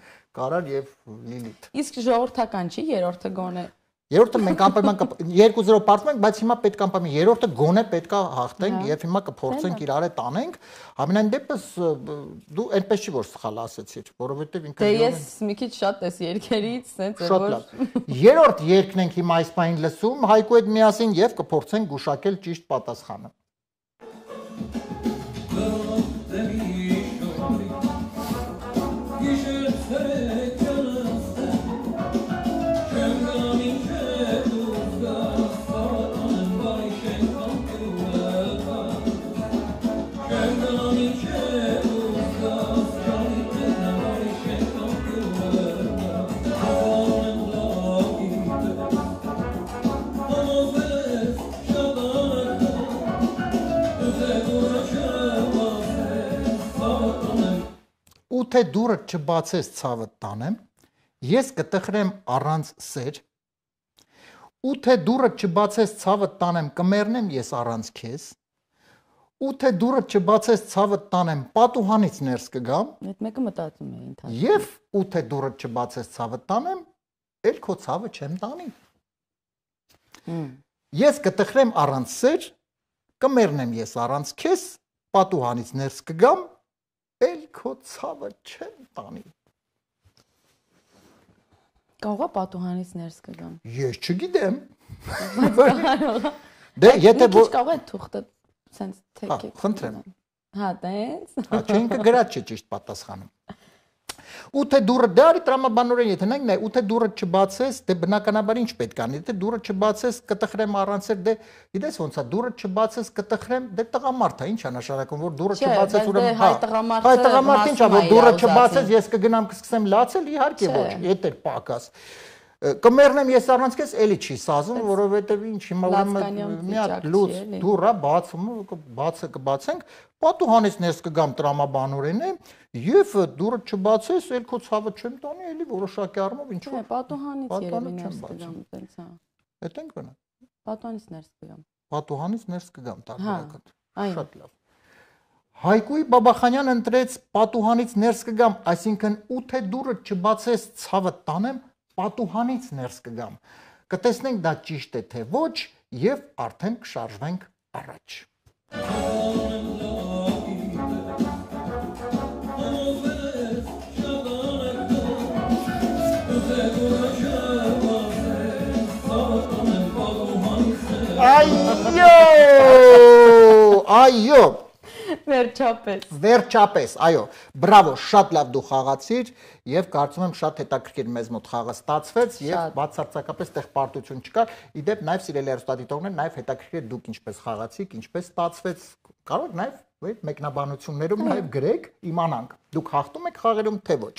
կարար եւ Լիլիթ։ Իսկ ժողովրդական չի, երրորդը գոնե։ Երրորդը մենք անպայման երկու զրո պարտում ենք, բայց հիմա պետք է անպայման երրորդը գոնե պետքա հաղթենք եւ հիմա կփորձենք իրար հետ տանենք։ Համենայն դեպս դու այնպես չի որ սխալ ասեցիր, որովհետեւ ինքը Դե ես մի քիչ շատ էս երկերից, սենց որ շատ լավ։ Երրորդ երկն ենք հիմա այս պահին լսում Հայկու հետ միասին եւ կփորձենք գուշակել ճիշտ պատասխանը։ Ու թե դուրը չբացես ցավը տանեմ, ես կտխրեմ առանց սեր։ Ու թե դուրը չբացես ցավը տանեմ, կմեռնեմ ես առանց քեզ։ Ու թե դուրը չբացես ցավը տանեմ, պատուհանից ներս կգամ։ Այդ մեկը մտածում է ինքան։ Եվ ու թե դուրը չբացես ցավը տանեմ, էլ քո ցավը չեմ տանի։ Ես կտխրեմ առանց սեր, կմեռնեմ ես առանց քեզ, պատուհանից ներս կգամ։ Էլ քո ցավը չեմ տանի։ Կարող է պատուհանից ներս կգամ։ Ես չգիտեմ։ Բայց Դե եթե որ կարող է թուղթը սենց թեքել։ Խնդրեմ։ Հա, տենց։ Հա, չենք գրած չէ ճիշտ պատասխանը։ Ու թե դուրը դարի տրամաբանորեն եթե նայենք նայ ու թե դուրը չբացես, դե բնականաբար ինչ պետք անի, եթե դուրը չբացես կտխրեմ առանց էր, դե գիտես ոնց է, դուրը չբացես կտխրեմ, դե տղամարդ է, ինչ է նշանակում, որ դուրը չբացես ուրեմն հա, հայ տղամարդ ինչ է, որ դուրը չբացես, ես կգնամ կսկսեմ լացել, իհարկե ոչ, եթե պակաս։ Կմեռնեմ ես առանց քեզ, էլի չի սազում, որովհետև ինչ հիմա ուրեմն մի հատ լուծ դուռա բացում, բացը կբացենք, պատուհանից ներս կգամ տրամաբանորեն է, եւ դուռը չբացես, էլ քո ցավը չեմ տանի, էլի որոշակի առումով ինչ որ պատուհանից երևի ներս կգամ, տենց հա։ Էդ ենք բնա։ Պատուհանից ներս կգամ։ Պատուհանից ներս կգամ տարբերակը։ Այն։ Շատ լավ։ Հայկուի Բաբախանյանը ընտրեց պատուհանից ներս կգամ, այսինքն ու թե դուռը չբացես ցավը տանեմ, պատուհանից ներս կգամ։ Կտեսնենք դա ճիշտ է թե ոչ եւ արդեն կշարժվենք առաջ։ Այո! Այո! Վերջապես։ Վերջապես, այո, բրավո, շատ լավ դու խաղացիր եւ կարծում եմ շատ հետաքրքիր մեզ մոտ խաղը ստացվեց եւ բացարձակապես տեղ պարտություն չկար։ Իդեպ նաեւ սիրելի հեռուստադիտողներ, նաեւ հետաքրքիր դուք ինչպես խաղացիք, ինչպես ստացվեց, կարող եք նաեւ այդ մեկնաբանություններում նաեւ գրեք, իմանանք դուք հաղթում եք խաղերում թե ոչ։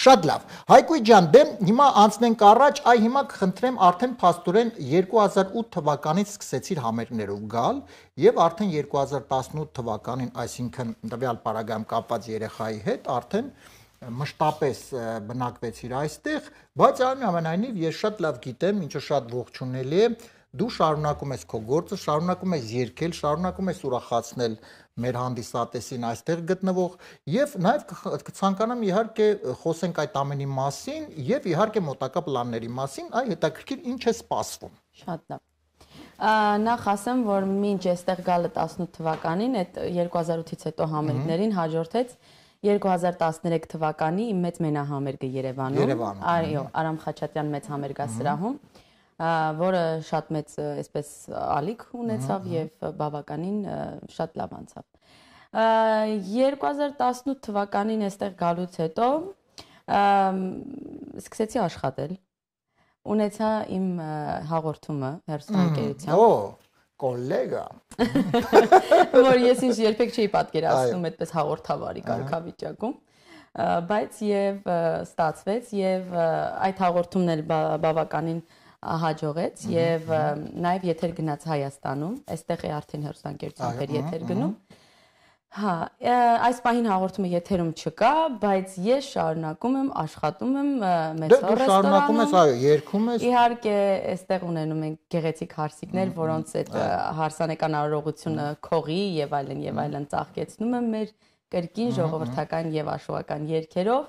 Շատ լավ։ Հայկույ ջան, դե հիմա անցնենք առաջ, այ հիմա կխնդրեմ արդեն փաստորեն երկու հազար ութ թվականից սկսեցիր համերգներով գալ եւ արդեն երկու հազար տասնութ թվականին, այսինքն տվյալ պարագայում կապված երեխայի հետ արդեն մշտապես բնակվեցիր այստեղ, բայց այնուամենայնիվ ես շատ լավ գիտեմ, ինչը շատ ողջունելի է, դու շարունակում ես քո գործը, շարունակում ես երգել, շարունակում ես ուրախացնել մեր հանդիսատեսին այստեղ գտնվող եւ նաեւ կցանկանամ իհարկե խոսենք այդ ամենի մասին եւ իհարկե մոտակա պլանների մասին, այ հետաքրքիր ինչ է սպասվում։ Շատ լավ։ Նախ ասեմ, որ մինչ այստեղ գալը տասնութ թվականին, այդ երկու հազար ութից հետո համերգներին հաջորդեց երկու հազար տասներեք թվականի իմ մեծ մենահամերգը Երևանում, այո, Արամ Խաչատյան մեծ համերգասրահում, որը շատ մեծ այսպես ալիք ունեցավ եւ բավականին շատ լավ անցավ։ երկու հազար տասնութ թվականին այստեղ գալուց հետո սկսեցի աշխատել, ունեցա իմ հաղորդումը հեռուստաընկերության։ Օ, կոլեգա։ Որ ես ինձ երբեք չէի պատկերացնում այդպես հաղորդավարի կարգավիճակում, բայց եւ ստացվեց եւ այդ հաղորդումն էլ բավականին հաջողեց եւ նաեւ եթեր գնաց Հայաստանում, այստեղ է արդեն հեռուստաընկերություն էր եթեր գնում։ Հա, այս պահին հաղորդումը եթերում չկա, բայց ես շարունակում եմ, աշխատում եմ մեծ ռեստորանում։ Դու շարունակում ես, այո, երգում ես։ Իհարկե, այստեղ ունենում ենք գեղեցիկ հարսիկներ, որոնց այդ հարսանեկան արարողությունը քողի եւ այլն եւ այլն ծաղկեցնում եմ մեր կրկին ժողովրդական եւ աշխուհական երգերով։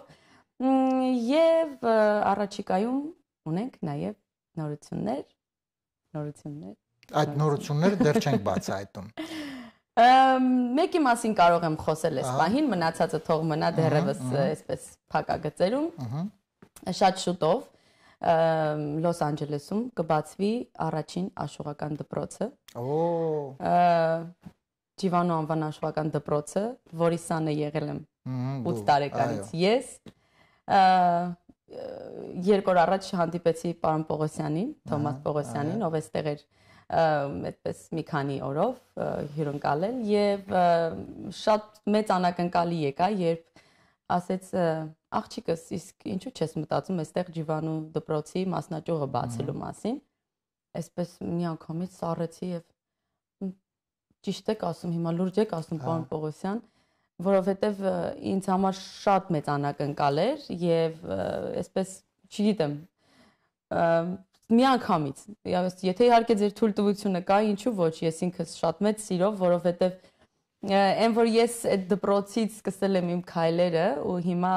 Եվ առաջիկայում ունենք նաեւ նորություններ, նորություններ։ Այդ նորությունները դեռ չենք բացահայտում։ Մեկի մասին կարող եմ խոսել այս պահին, մնացածը թող մնա դեռևս այսպես փակագծերում։ Շատ շուտով Լոս Անջելեսում կբացվի առաջին աշխուհական դպրոցը։ Ջիվանո անվան աշխուհական դպրոցը, որի սանը եղել եմ ութ տարեկանից ես։ Երկու օր առաջ հանդիպեցի պարոն Պողոսյանին, Թոմաս Պողոսյանին, ով էստեղ էր այդպես մի քանի օրով հյուրընկալել եւ շատ մեծ անակնկալի եկա, երբ ասեց աղջիկս, իսկ ինչու չես մտածում այստեղ Ջիվանու դպրոցի մասնաճյուղը բացելու մասին։ Այսպես մի անգամից սառեցի եւ ճիշտ եք ասում, հիմա լուրջ եք ասում պարոն Պողոսյան, որովհետեւ ինձ համար շատ մեծ անակնկալ էր եւ այսպես չգիտեմ մի անգամից, եթե իհարկե ձեր թույլտվությունը կա, ինչու ոչ, ես ինքս շատ մեծ սիրով, որովհետև այն որ ես այդ դպրոցից սկսել եմ իմ քայլերը ու հիմա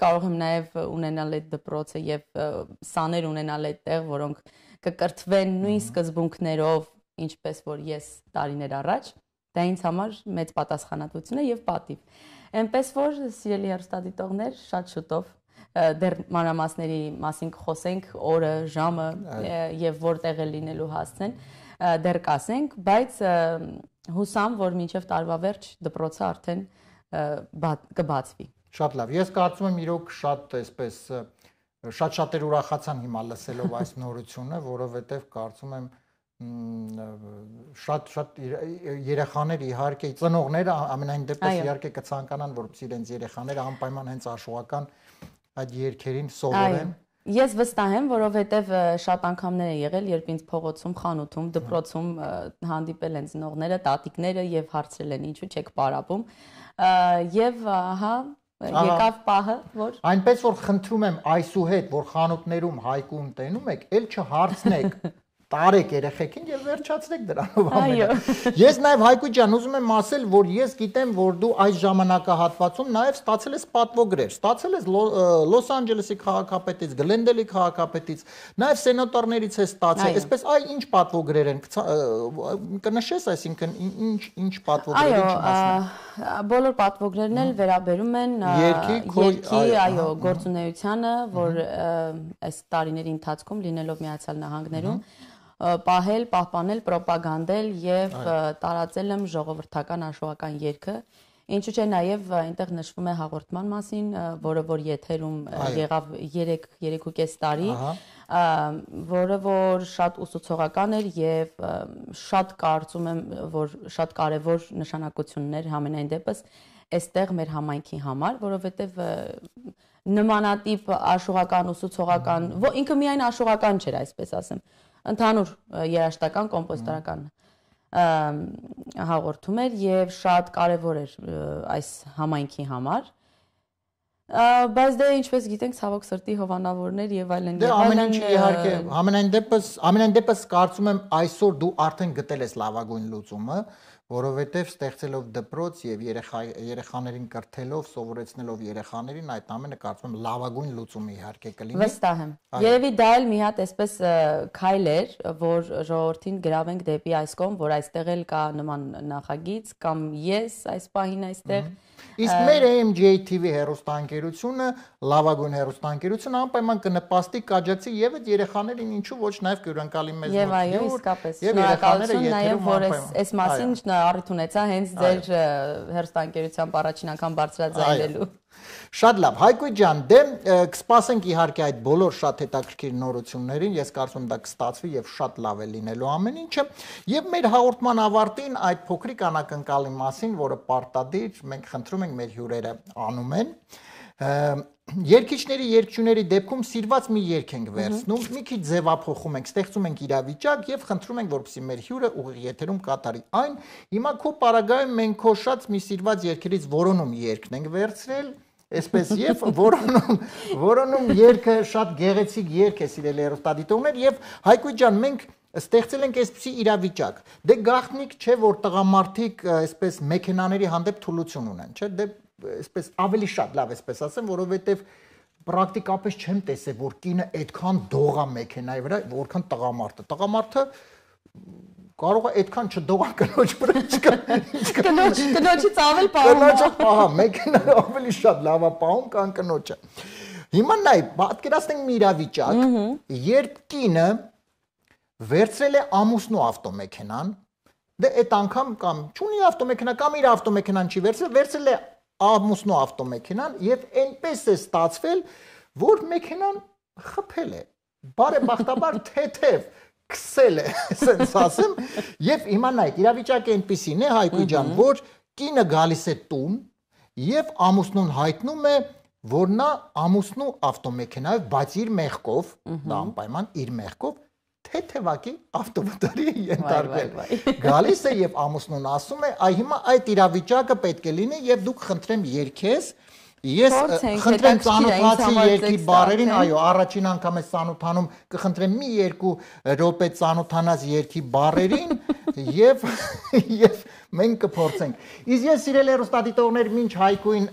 կարող եմ նաև ունենալ այդ դպրոցը եւ սաներ ունենալ այդտեղ, որոնք կկրթվեն նույն սկզբունքներով, ինչպես որ ես տարիներ առաջ, դա ինձ համար մեծ պատասխանատվություն է եւ պատիվ։ Այնպես որ սիրելի հեռուստադիտողներ, շատ շուտով դեռ մանրամասների մասին կխոսենք, օրը, ժամը եւ որտեղ է լինելու հասցեն, դեռ կասենք, բայց հուսամ, որ մինչեւ տարվա վերջ դպրոցը արդեն կբացվի։ Շատ լավ։ Ես կարծում եմ իրոք շատ այսպես շատ-շատեր ուրախացան հիմա լսելով այս նորությունը, որովհետեւ կարծում եմ շատ-շատ երեխաներ իհարկե ծնողները ամենայն դեպս իհարկե կցանկանան, որպեսզի իրենց երեխաները անպայման հենց աշխուհական այդ երգերին սովորեն։ Ես վստահ եմ, որովհետև շատ անգամներ է եղել, երբ ինձ փողոցում, խանութում, դպրոցում հանդիպել են ծնողները, տատիկները եւ հարցրել են ինչու չեք պարապում։ Եվ ահա եկավ պահը, որ այնպես որ խնդրում եմ այսուհետ, որ խանութներում հայկուն տենում եք, ել չհարցնեք տարեք երեխեքին եւ վերջացրեք դրանով ամենը։ Ես նաեւ Հայկույտ ջան ուզում եմ ասել, որ ես գիտեմ, որ դու այս ժամանակահատվածում նաեւ ստացել ես պատվոգրեր, ստացել ես Լոս Անջելեսի քաղաքապետից, Գլենդելի քաղաքապետից, նաեւ սենատորներից ես ստացել։ Այսպես այ ինչ պատվոգրեր են կնշես, այսինքն ինչ ինչ պատվոգրեր ինչ մասն։ Բոլոր պատվոգրերն էլ վերաբերում են երկի, այո, գործունեությանը, որ այս տարիների ընթացքում լինելով Միացյալ Նահանգներում պահել, պահպանել, պրոպագանդել եւ տարածել եմ ժողովրդական աշխուհական երգը, ինչու՞ չէ նաեւ այնտեղ նշվում է հաղորդման մասին, որը որ եթերում եղավ երեք ու կես տարի, որը որ շատ ուսուցողական էր եւ շատ կարծում եմ, որ շատ կարեւոր նշանակություններ համենայն դեպս այստեղ մեր համայնքի համար, որովհետեւ նմանատիպ աշխուհական, ուսուցողական, ինքը միայն աշխուհական չէր, այսպես ասեմ, ընդհանուր երաժշտական, կոմպոզիտորական հաղորդում էր եւ շատ կարեւոր էր այս համայնքի համար։ Բայց դե ինչպես գիտենք, ցավոք սրտի հովանավորներ եւ այլն եւ այլն։ Դե ամեն ինչ իհարկե, ամենայն դեպս, ամենայն դեպս կարծում եմ այսօր դու արդեն գտել ես լավագույն լուծումը, որովհետեւ ստեղծելով դպրոց եւ երեխաներին կրթելով, սովորեցնելով երեխաներին, այդ ամենը կարծում եմ լավագույն լուծումը իհարկե կլինի։ Վստահ եմ։ Երևի դա էլ մի հատ այսպես քայլ էր, որ ժողովրդին գրավենք դեպի այս կողմ, որ այստեղ էլ կա նման նախագիծ կամ ես այս պահին այստեղ Իսկ մեր A M J T V հեռուստաընկերությունը, լավագույն հեռուստաընկերությունը անպայման կնպաստի կաջակցի եւ այդ երեխաներին ինչու ոչ նաեւ կհյուրընկալի մեզ մոտ։ Եվ այո, իսկապես։ Շնորհակալություն նաեւ, որ այս մասին առիթ ունեցա հենց ձեր հեռուստաընկերությամբ առաջին անգամ բարձրաձայնելու։ Շատ լավ, Հայկույտ ջան, դե կսպասենք իհարկե այդ բոլոր շատ հետաքրքիր նորություններին, ես կարծում եմ դա կստացվի եւ շատ լավ է լինելու ամեն ինչը, եւ մեր հաղորդման ավարտին այդ փոքրիկ անակնկալի մասին, որը պարտադիր մենք խնդրում ենք մեր հյուրերը անում են, Երկիչների երկչուների դեպքում սիրված մի երկ ենք վերցնում, մի քիչ ձևափոխում ենք, ստեղծում ենք իրավիճակ եւ խնդրում ենք, որպեսզի մեր հյուրը ուղիղ եթերում կատարի այն։ Հիմա քո պարագայում մենք քո շատ մի սիրված երգերից որոնում երգն ենք վերցրել, այսպես եւ որոնում որոնում երգը շատ գեղեցիկ երգ է, սիրելի հեռուստադիտողներ, եւ Հայկույ ջան, մենք ստեղծել ենք այսպիսի իրավիճակ։ Դե գաղտնիք չէ, որ տղամարդիկ այսպես մեքենաների հանդեպ թուլություն ունեն, չէ՞։ Դե այսպես ավելի շատ լավ էսպես ասեմ, որովհետեւ պրակտիկապես չեմ տեսել, որ կինը այդքան դողա մեքենայի վրա, որքան տղամարդը։ Տղամարդը կարող է այդքան չդողա կնոջ վրա, կնոջ կնոջից ավել պահում։ Կնոջը, ահա, մեքենան ավելի շատ լավ է պահում, քան կնոջը։ Հիմա նայ, պատկերացնենք մի իրավիճակ, երբ կինը վերցրել է ամուսնու ավտոմեքենան, դե այդ անգամ կամ չունի ավտոմեքենա, կամ իր ավտոմեքենան չի վերցրել, վերցրել է ամուսնու ավտոմեքենան եւ այնպես է ստացվել, որ մեքենան խփել է, բարեբախտաբար թեթև քսել է, ասենց ասեմ, եւ հիմա նայեք, իրավիճակը այնպեսին է, Հայկույ ջան, որ կինը գալիս է տուն եւ ամուսնուն հայտնում է, որ նա ամուսնու ավտոմեքենայով, բայց իր մեղքով, դա անպայման իր մեղքով թեթևակի ավտովթարի ենթարկվել։ Գալիս է եւ ամուսնուն ասում է, այ հիմա այդ իրավիճակը պետք է լինի եւ դուք խնդրեմ երգես, ես խնդրեմ ծանոթացի երգի բառերին, այո, առաջին անգամ ես ծանոթանում, կխնդրեմ մի երկու րոպե ծանոթանաս երգի բառերին եւ եւ մենք կփորձենք։ Իսկ ես սիրելի հեռուստադիտողներ, մինչ Հայկույն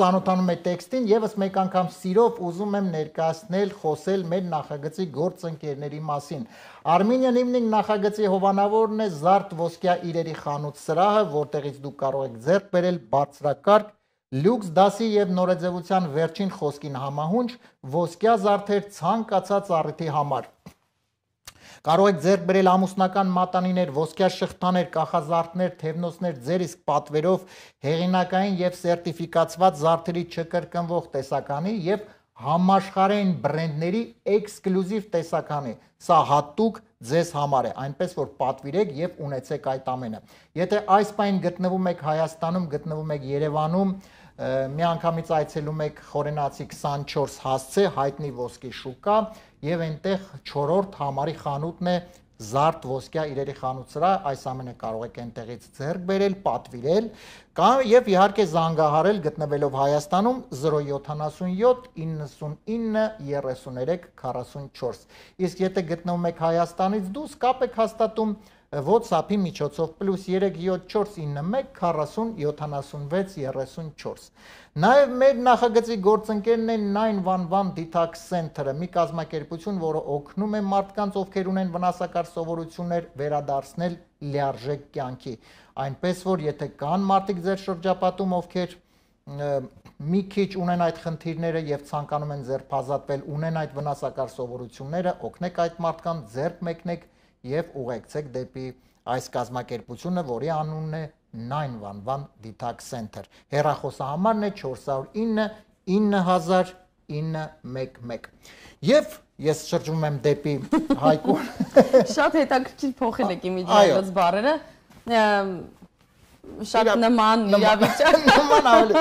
ծանոթանում է տեքստին, եւս մեկ անգամ սիրով ուզում եմ ներկայացնել, խոսել մեր նախագծի գործընկերների մասին։ Armenian Evening նախագծի հովանավորն է Զարդ ոսկյա իրերի խանութ սրահը, որտեղից դուք կարող եք ձեռք բերել բարձրակարգ լյուքս դասի եւ նորաձևության վերջին խոսքին համահունչ ոսկյա զարդեր ցանկացած առիթի համար։ Կարող եք ձեռք բերել ամուսնական մատանիներ, ոսկյա շղթաներ, կախազարդներ, թևնոցներ, ձեր իսկ պատվերով հեղինակային եւ սերտիֆիկացված զարդերի չկրկնվող տեսականի եւ համաշխարհային բրենդների էքսկլյուզիվ տեսականի։ Սա հատուկ ձեզ համար է, այնպես որ պատվիրեք եւ ունեցեք այդ ամենը։ Եթե այս պայն գտնվում եք Հայաստանում, գտնվում եք Երևանում, մի անգամից այցելում եք Խորենացի քսանչորս հասցե հայտնի ոսկի շուկա եւ այնտեղ չորրորդ համարի խանութն է Զարդ ոսկյա իրերի խանութ սրահ, այս ամենը կարող եք այնտեղից ձեռք բերել, պատվիրել, կամ եւ իհարկե զանգահարել գտնվելով Հայաստանում զրո յոթանասունյոթ իննսունինը երեսուներեք քառասունչորս։ Իսկ եթե գտնվում եք Հայաստանից դուրս, կապ եք հաստատում WhatsApp-ի միջոցով պլյուս երեք յոթ չորս ինը մեկ քառասուն յոթանասունվեց երեսունչորս։ Նաև մեր նախագծի գործընկերն է nine one one Detox Center-ը, մի կազմակերպություն, որը օգնում է մարդկանց, ովքեր ունեն վնասակար սովորություններ, վերադարձնել լիարժեք կյանքի։ Այնպես որ եթե կան մարդիկ ձեր շրջապատում, ովքեր մի քիչ ունեն այդ խնդիրները եւ ցանկանում են ձերբազատվել, ունեն այդ վնասակար սովորությունները, օգնեք այդ մարդկանց, ձեռք մեկնեք եւ ուղեկցեք դեպի այս կազմակերպությունը, որի անունն է nine one one Detox Center։ Հեռախոսահամարն է four zero nine nine zero nine one one։ Եվ ես շրջում եմ դեպի Հայկուն։ Շատ հետաքրքիր փոխել եք իմիջիայլոց բառերը։ Շատ նման իրավիճակ։ Նման ավելի։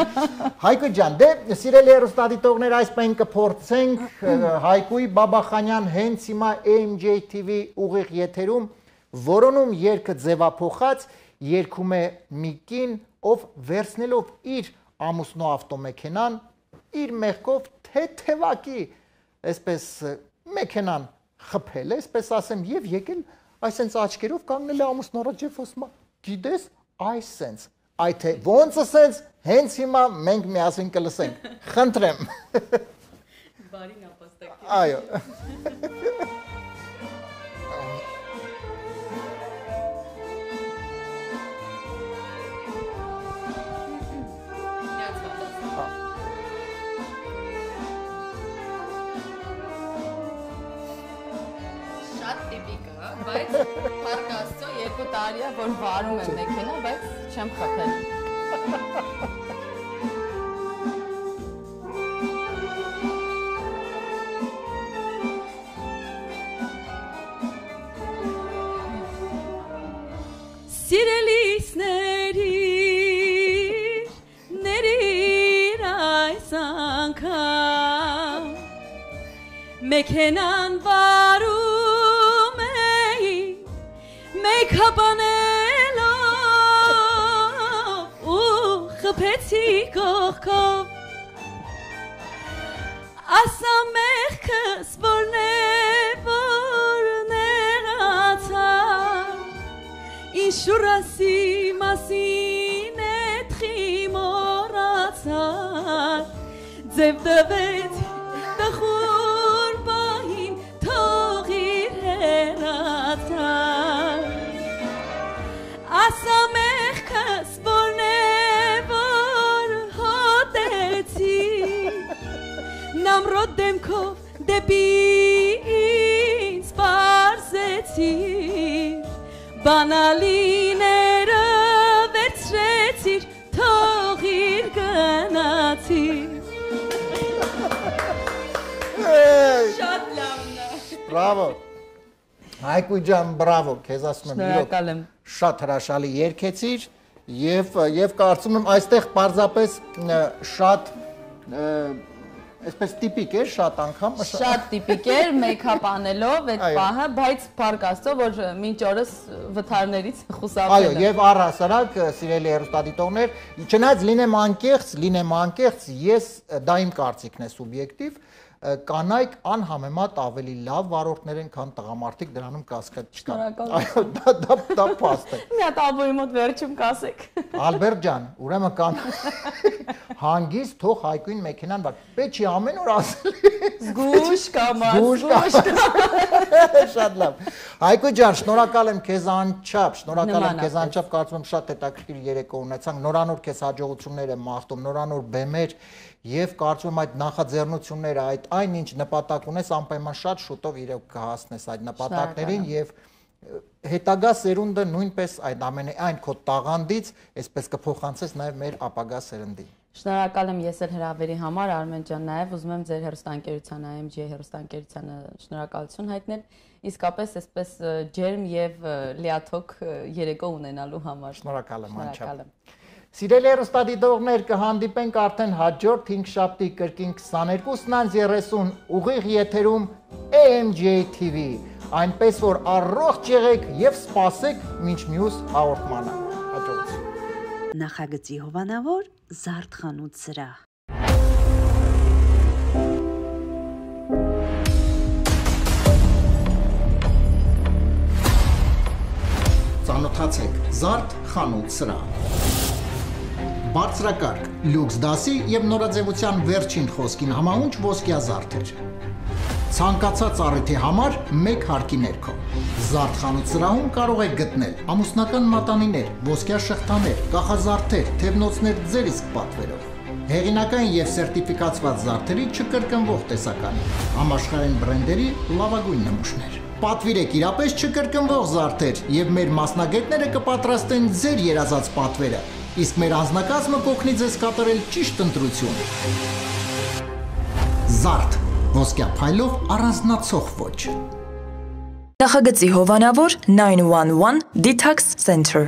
Հայկու ջան, դե սիրելի հեռուստադիտողներ, այս պայն կփորձենք Հայկուի Բաբախանյան հենց հիմա A M J T V ուղիղ եթերում որոնում երգը ձևափոխած երգում է մի կին, ով վերցնելով իր ամուսնու ավտոմեքենան, իր մեղքով թեթևակի, այսպես մեքենան խփել է, այսպես ասեմ, եւ եկել այսենց աչքերով կանգնել է ամուսնու առաջ եւ ասում է, գիտես, այս sense, այդ է, ոնց է sense, հենց հիմա մենք միասին կլսենք, խնդրեմ։ Բարի նապաստակ։ Այո։ Շատ տիպիկ է, բայց փառք Աստծո երկու տարի է, որ վարում եմ մեքենա, բայց չեմ խփել։ Սիրելիսների ների այս մեքենան վարում էի մեյքափանելով ու խփեցի կողքով ասա մեղքս որն է որ նեղացար ինշուրասի մասին էդ խիմորացար ձև դվեց տխուր բահին թողիր հեռացար ասա մեղքս որն է որ հոտեցի նամրոտ դեմքով դեպի ինձ պարզեցի բանալիները վերցրեցիր թողիր գնացիր Շատ լավն է։ Բրավո։ Հայկու ջան, բրավո, քեզ ասում եմ, Շնորհակալ եմ։ Շատ հրաշալի երգեցիր եւ եւ կարծում եմ այստեղ պարզապես շատ այսպես տիպիկ էր, շատ անգամ Շատ տիպիկ էր մեյքափ անելով այդ պահը, բայց փառք Աստծո, որ մինչ օրս վթարներից խուսափել Այո, եւ առհասարակ սիրելի հեռուստադիտողներ, չնայած լինեմ անկեղծ, լինեմ անկեղծ, ես դա իմ կարծիքն է սուբյեկտիվ կանայք անհամեմատ ավելի լավ վարորդներ են, քան տղամարդիկ, դրանում կասկած չկա։ Այո, դա դա դա փաստ է։ Մի հատ ալբոմի մոտ վերջում կասեք։ Ալբերտ ջան, ուրեմն կան հանգիստ թող Հայկույն մեքենան վար։ Պետք չի ամեն օր ասել։ Զգուշ կամաց, զգուշ Շատ լավ։ Հայկու ջան, շնորհակալ եմ քեզ անչափ, շնորհակալ եմ քեզ անչափ, կարծում եմ շատ հետաքրքիր երեկո ունեցանք։ Նորանոր քեզ հաջողություններ եմ մաղթում, նորանոր բեմեր եւ կարծում եմ այդ նախաձեռնությունները, այդ այն ինչ նպատակ ունես, անպայման շատ շուտով իրոք կհասնես այդ նպատակներին եւ հետագա սերունդը նույնպես այդ ամենը այն քո տաղանդից, այսպես կփոխանցես նաեւ մեր ապագա սերնդին։ Շնորհակալ եմ ես էլ հրավերի համար, Արմեն ջան, նաեւ ուզում եմ ձեր հեռուստաընկերության I M G հեռուստաընկերությանը շնորհակալություն հայտնել, իսկապես այսպես ջերմ եւ լիաթոք երեկո ունենալու համար։ Շնորհակալ եմ անչափ։ Սիրելի հեռուստադիտողներ, կհանդիպենք արդեն հաջորդ հինգշաբթի կրկին քսաներկուսն երեսուն ուղիղ եթերում A M G T V, այնպես որ առողջ եղեք եւ սպասեք մինչ մյուս հաղորդմանը։ Հաջողություն։ Նախագծի հովանավոր Զարդխանութ սրահ Ծանոթացեք Զարդ խանութ սրահ Բարձրակարգ, լյուքս դասի եւ նորաձևության վերջին խոսքին համահունչ ոսկյա զարդեր։ Ցանկացած առիթի համար մեկ հարկի ներքո։ Զարդ խանութ սրահում կարող եք գտնել ամուսնական մատանիներ, ոսկյա շղթաներ, կախազարդեր, թևնոցներ ձեր իսկ պատվերով։ Հեղինակային եւ սերտիֆիկացված զարդերի չկրկնվող տեսականի, համաշխարհային բրենդերի լավագույն նմուշներ։ Պատվիրեք իրապես չկրկնվող զարդեր եւ մեր մասնագետները կպատրաստեն ձեր երազած պատվերը։ Իսկ մեր անձնակազմը կօգնի ձեզ կատարել ճիշտ ընտրություն։ Զարդ, ոսկյա փայլով առանձնացող ոճ։ Նախագծի հովանավոր nine one one Detox Center